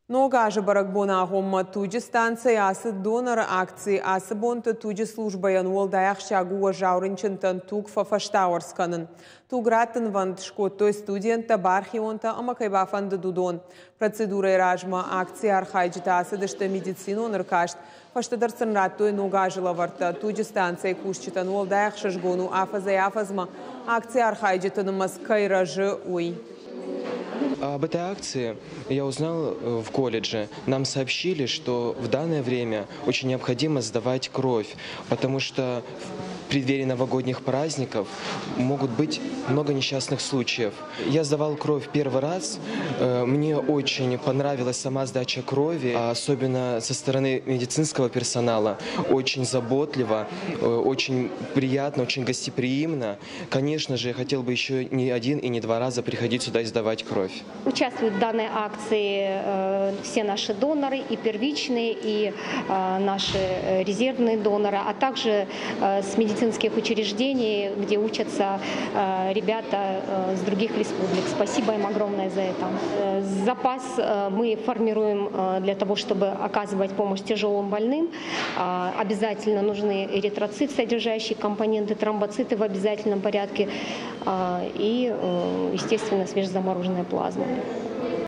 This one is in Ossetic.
Ног азы бӕрӕгбоны агъоммӕ туджы станцӕйы ацыд доноры акци. Ацы бонты туджы службӕйӕн уӕлдай ахсджиаг у уӕззау рынчынтӕн туг фӕфӕстауӕрц кӕнын. Туг раттынвӕнд скодтой студенттӕ, бархионтӕ ӕмӕ кӕй бафӕндыд, уыдон. Процедурӕйы размӕ акцийы архайджытӕ ацыдысты медицинон ӕркаст. Фӕстӕдӕр сын радтой ног азы лӕвӕрттӕ. Туджы станцӕйы кусджытӕн уӕлдай ӕхсызгон у, афӕдзӕй-афӕдзмӕ акцийы архайджыты нымӕц кӕй рӕзы, уый. Об этой акции я узнал в колледже. Нам сообщили, что в данное время очень необходимо сдавать кровь, потому что в преддверии новогодних праздников могут быть много несчастных случаев. Я сдавал кровь первый раз. Мне очень понравилась сама сдача крови, особенно со стороны медицинского персонала. Очень заботливо, очень приятно, очень гостеприимно. Конечно же, я хотел бы еще не один и не два раза приходить сюда и сдавать кровь. Участвуют в данной акции все наши доноры, и первичные, и наши резервные доноры, а также с медицинских учреждений, где учатся ребята с других республик. Спасибо им огромное за это. Запас мы формируем для того, чтобы оказывать помощь тяжелым больным. Обязательно нужны эритроцит, содержащие компоненты, тромбоциты в обязательном порядке и, естественно, свежезамороженная плазма.